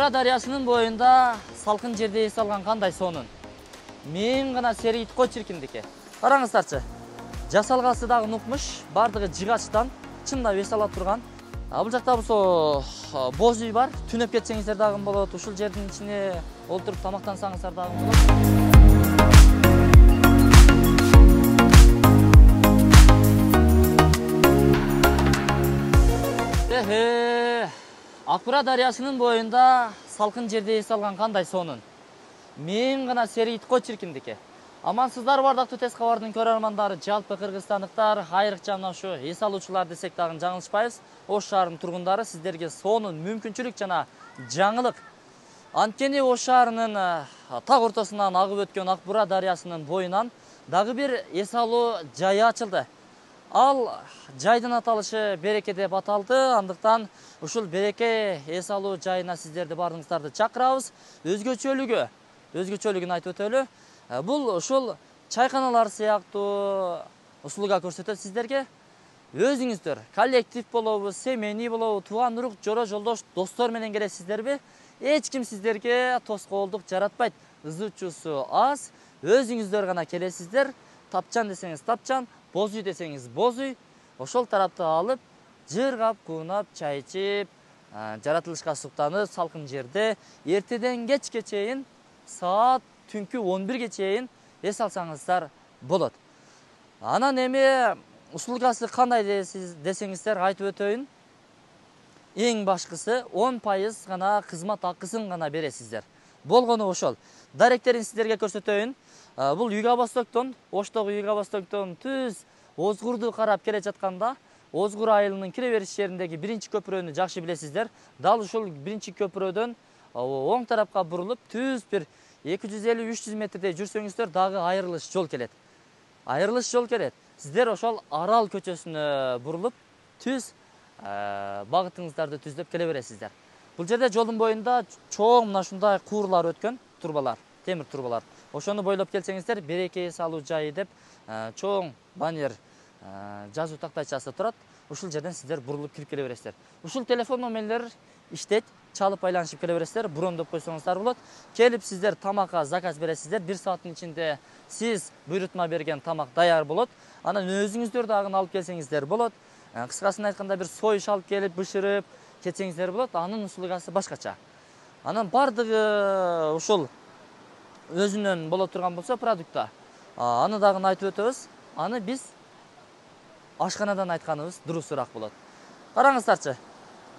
Акбура дарыясынын боюнда салкын жерде эс алган кандай сонун. Мен гана серийт го чиркиндикке. Караңыздарчы. Жасалгасы дагы нукмуш, бардыгы жыгачтан чындап эс ала турган. Бул жакта болсо боз үй бар. Түнөп кетсеңиздер дагы болот. Ушул жердин ичине олтуруп тамактансаңыздар дагы болот. Акбура дарыясынын боюнда салкын жерде эс алган кандай сонун. Мен гана серийт го чиркиндикке. Амансыздар бардактуу ТС кабардын көрөрмандары, жалпы кыргызстандыктар, айрыкча мына ушу эс алуучулар десек дагы жаңылышпайбыз. Ош шаарынын тургундары сиздерге сонун мүмкүнчүлүк жана жаңылык. Анткени Ош шаарынын так ортосунан агып өткөн Акбура дарыясынын боюнан дагы бир эс алуу жайы ачылды. Ал жайдын аталышы Береке деп аталды. Андыктан ушул Береке эс алуу жайына сиздерди баарыңыздарды чакырабыз. Өзгөчөлүгүн айтып өтөлү. Бул ушул чайканалар сыяктуу услуга көрсөтөт сиздерге. Өзүңүздөр коллектив болобу, семейный болобу, тууган урук, жора жолдош, достор менен келесиздерби? Эч ким сиздерге тоскоолдук жаратпайт. Ызычуусу аз. Өзүңүздөр гана келесиздер. Тапчан десеңиз тапчан, боз үй десеңиз боз үй. Ошол тарапты алып, жыргап, куунап, чай ичип, жаратылышка суктанып, салкын жерде эртеден кечке чейин саат түнкү 11ге чейин эс алсаңыздар болот. Анан эми услугасы кандай десеңиздер айтып өтөйүн. Эң башкысы 10% гана кызмат акысын гана бересиздер. Болгону ошол. Даректерин сиздерге көрсөтөйүн. Бул Юго-Востоктон, Оштогу Юго-Востоктон түз Озгурду карап келе жатканда, Озгур айылынын кире бериш жериндеги биринчи көпүрөнү жакшы билесиздер. Дал ушул биринчи көпүрөдөн оң тарапка бурулуп, түз бир 250-300 метрдей жүрсөңүздөр дагы айрылыш жол келет. Сиздер ошол Арал көчөсүнө бурулуп, түз багытыңыздарды түздөп келе бересиздер. Бул жерде жолдун боюнда чоң мына ушундай куурлар өткөн, турбалар, темир турбалар. Ошону бойлоп келсеңиздер, Береке эс алуу жайы деп чоң баннер жазуу тактайчасы турат. Ушул жерден сиздер бурулуп кирип келе бересиздер. Ушул телефон номерлер иштейт, чалып айланышып келе бересиздер, брондоп койсоңуздар болот. Келип сиздер тамакка заказ бересиздер. 1 сааттын ичинде сиз буйрутма берген тамак даяр болот. Анан өзүңүздөр дагы алып келсеңиздер болот. Кыскасын айтканда бир союш алып келип бышырып кетсеңиздер болот. Анын услугасы башкача. Анан бардыгы ушул өзүнөн боло турган болсо продукта. Аны дагы айтып өтөбүз. Аны биз ашканадан айтканыбыз дурусураак болот. Караңыздарчы.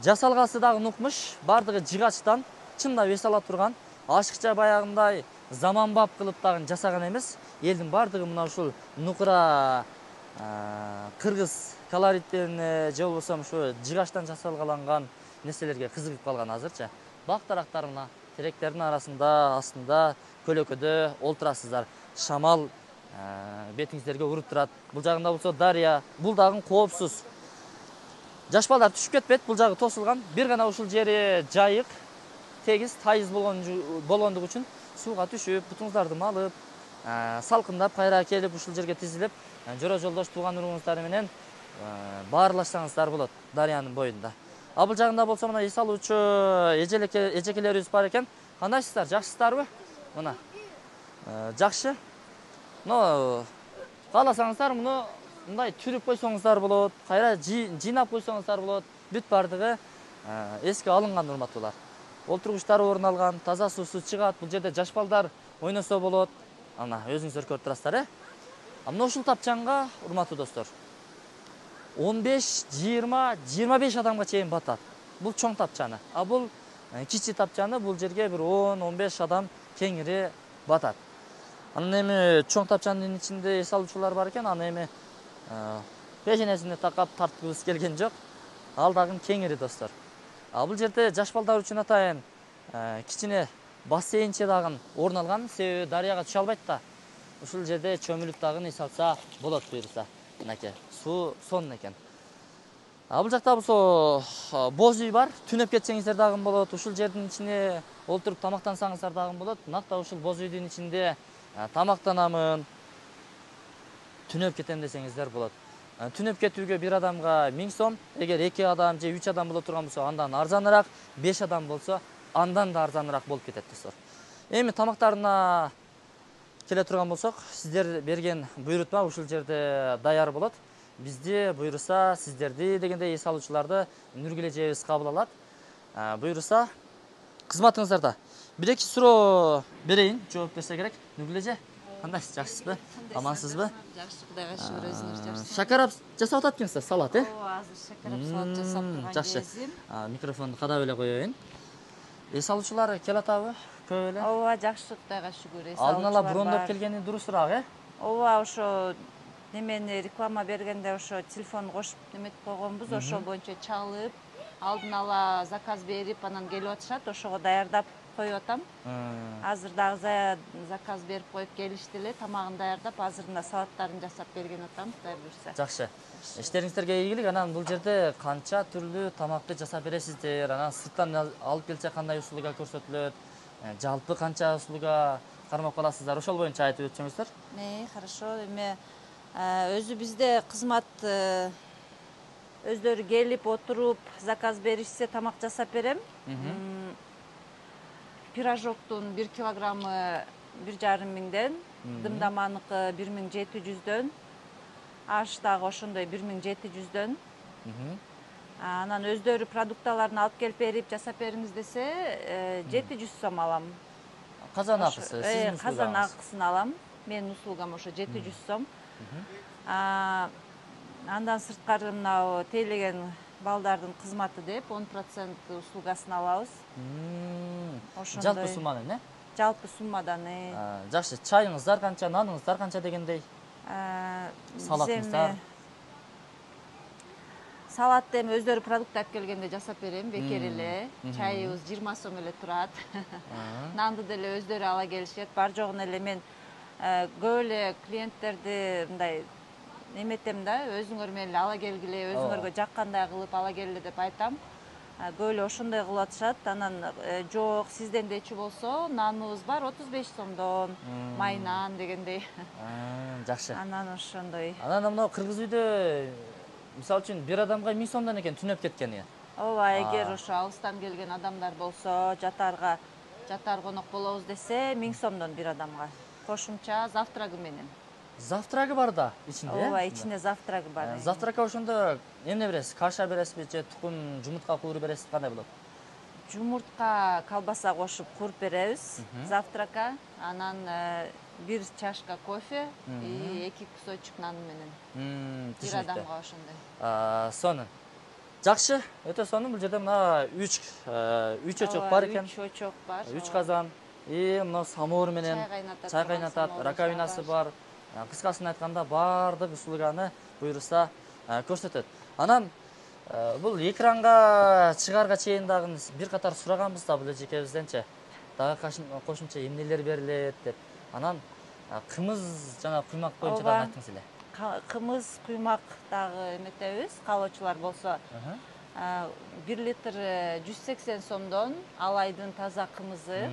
Жасалгасы дагы нукмуш, бардыгы жыгачтан чындап эс ала турган. Ашыкча баягындай заманбап кылып дагы жасаган эмес. Элдин бардыгы мына ушул нукура кыргыз колориттерине же болбосо ушу жыгачтан жасалган нерселерге кызыгып калган азырчы. Бак дарактарына, теректердин арасында, астында, көлөкөдө олтурасыздар. Шамал бетиңиздерге уруп турат. Бул жагында болсо дарыя, бул дагы коопсуз. Жаш балдар түшүп кетпейт, бул жагы тосулган. Бир гана ушул жери жайык, тегиз, тайыз болгондугу үчүн сууга түшүп, бутуңуздарды малып, салкындап кайра келип ушул жерге тизилип, жора жолдош тууган уругуңуздар менен баарлашсаңыздар болот дарыянын боюнда. Бул жагында болсо мына эс алуучу эжекелерибиз бар экен. Кандайсыздар, жакшысыздарбы? Мына. Жакшы. Кааласаңыздар муну мындай түрүп койсоңуздар болот, кайра жыйнап койсоңуздар болот. Бүт бардыгы эске алынган урматтуулар. Олтургучтар орун алган, таза суусу чыгат. Бул жерде жаш балдар ойносо болот. Ана өзүңүздөр көрүп турасыздар, Мына ушул тапчанга, урматтуу достор, 15, 20, 25 адамга чейин батат. Бул чоң тапчаны. Бул кичи тапчаны, бул жерге бир 10-15 адам кеңири батат. Анан эми чоң тапчанын ичинде эс алуучулар бар экен, аны эми пеженесине такап тарткыбыз келген жок. Ал дагы кеңири достор. Бул жерде жаш балдар үчүн атайын кичине бассейнче дагы орун алган, себеби дарыяга түшө албайт да. Ушул жерде чөмүлүп дагы эс алса болот буйруса. Мынакей, суу сонун экен. Бул жакта болсо боз үй бар. Түнөп кетсеңиздер дагы болот. Ушул жердин ичине олтуруп тамактансаңыздар дагы болот. Накта ушул боз үйдүн ичинде тамактанамын, түнөп кетем десеңиздер болот. Түнөп кетүүгө бир адамга 1000 сом, эгер 2 адам же 3 адам боло турган болсо андан арзаныраак, 5 адам болсо андан да арзаныраак болуп кетет достор. Эми тамактарына келе турган болсок, сиздер берген буйрутма ушул жерде даяр болот. Бизди буйруса сиздерди дегенде эс алуучуларды Нургүл эжебиз кабыл алат. Буйруса кызматыңыздарда. Бир-эки суроо берейин, жооп берсе керек. Нургүл эже, кандайсыз, жакшысызбы? Амансызбы? Жакшы, Кудайга шүгүр, өзүңүз жакшысызбы? Шакарап жасап атат экенсиз, салат, Ооба, азыр шакарап салат жасап турган жакшы. кезим. Микрофонду кадап эле коеюн. Эс алуучулар келатабы? Көп эле? Ооба, жакшы, Кудайга шүгүр. Алдын ала брондоп келгени дурусураак, Ооба, ошо немени реклама бергенде ошо телефон кошуп неметип койгонбуз, ошол боюнча чалып, алдын ала заказ берип, анан келип атышат, ошого даярдап коюп атам. Азыр дагы заказ берип коюп келишти эле, тамагын даярдап, азыр мына салаттарын жасап берген атам, Кудай буйрса. Жакшы. Иштериңиздерге ийгилик. Анан бул жерде канча түрлүү тамакты жасап бересиздер? Анан сырттан алып келсе кандай услуга көрсөтүлөт? Жалпы канча услуга кармап каласыздар? Ошол боюнча айтып өтсөңүздөр. Хорошо. Эми өзү бизде кызмат өздөрү келип отуруп заказ беришсе тамак жасап берем. Пирожоктун 1 килограммы 1,5 миңден, дымдаманыкы 1700дөн, аш дагы ошондой 1700дөн. Анан өздөрү продукталарын алып келип берип жасап бериңиз десе 700 сом алам. Казан акысы, сиздин Казан акысын алам. Менин услугам ошо 700 сом. Андан сырткары мына тейлеген балдардын кызматы деп 10% услугасын алабыз. Жалпы суммадан, Жалпы суммадан. Жакшы. Чайыңыздар канча, наныңыздар канча дегендей? Салатыңыздар? Салатты эми өздөрү продукт алып келгенде жасап берем, бекер эле. Чайыбыз 20 сом эле турат. Нанды деле өздөрү ала келишет. Бар жогун эле мен көп эле клиенттерди мындай неметем да, өзүңөр менен ала келгиле, өзүңөргө жаккандай кылып ала келгиле деп айтам. Көп эле ошондой кылып атышат. Анан жок, сизден дечи болсо, наныбыз бар 35 сомдон, май нан дегендей. Жакшы. Анан ошондой. Анан мына кыргыз үйдө мисалы үчүн бир адамга 1000 сомдон экен түнөп кеткени. Ооба, эгер ошо алыстан келген адамдар болсо, жатар конок болобуз десе, 1000 сомдон бир адамга. Кошумча завтрагы менен. Завтрагы бар да ичинде? Ооба, ичинде завтрагы бар. Завтракка ошондо эмне бересиз? Каша бересизби же тукум, жумуртка кууруп бересиз, кандай болот? Жумуртка, колбаса кошуп кууруп беребиз завтракка. Анан 1 чашка кофе и 2 кусочек нан менен. Бир адамга ошондой. Сонун. Жакшы, өтө сонун. Бул жерде мына 3 очок бар экен. 3 очок бар. 3 казан. Мына самовар менен чай кайнатат, раковинасы бар. Кыскасын айтканда баардык услуганы буйруса көрсөтөт. Анан бул экранга чыгарга чейин дагы бир катар сураганбыз да бул эжекебизденчи. Дагы кошумча эмнелер берилет деп. Анан кымыз жана куймак боюнча дагы айттыңыз эле. Кымыз, куймак дагы эметебиз. Каалоочулар болсо 1 литр 180 сомдон алайдын таза кымызы.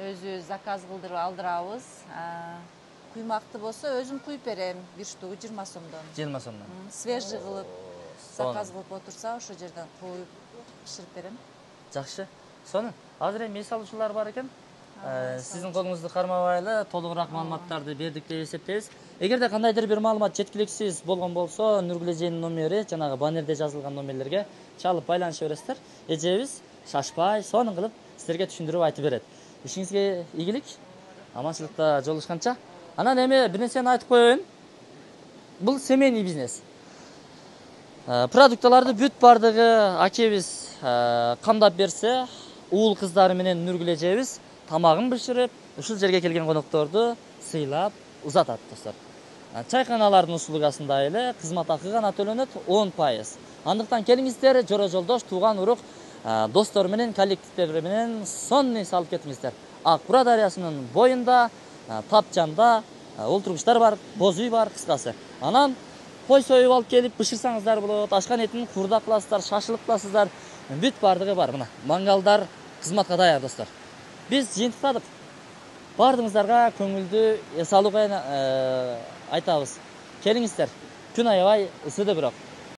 Өзү заказ кылдырып алдырабыз. Куймакты болсо өзүм куюп берем, 1 штугу 20 сомдон. 20 сомдон. Свежий кылып заказ кылып отурса, ошо жерден коюп биширип берем. Жакшы. Сонун. Азыр эми эс алуучулар бар экен. Сиздин колуңузду кармабай эле толугураак маалыматтарды бердик деп эсептейбиз. Эгерде кандайдыр бир маалымат жеткиликсиз болгон болсо, Нургүл эженин номери жанагы баннерде жазылган номерлерге чалып байланыша бересиздер. Эжебиз шашпай, сонун кылып сиздерге түшүндүрүп айтып берет. Ишиңизге ийгилик, аманчылыкта жолугушканча. Анан эми бир нерсени айтып коеюн. Бул семейный бизнес. Продукталарды бүт бардыгы акебиз камдап берсе, уул кыздары менен Нургүл эжебиз тамагын бышырып, ушул жерге келген конокторду сыйлап узатат, достор. Чайканалардын услугасында эле кызмат акы гана төлөнөт 10%. Андыктан келиңиздер, жора жолдош, тууган урук, достор менен, коллективдер менен сонун эс алып кетиңиздер. Ак Бура дарыясынын боюнда, Тапчанда олтургучтар бар, боз үй бар, кыскасы. Анан кой союп алып келип бышырсаңыздар болот, ашкан этин курдак кыласыздар, шашылык кыласыздар. Бүт бардыгы бар. Мына мангалдар кызматка даяр, достор. Биз жыйынтыктадык. Бардыгыңыздарга көңүлдүү эс алууга айтабыз. Келиңиздер. Күн аябай ысыды бирок.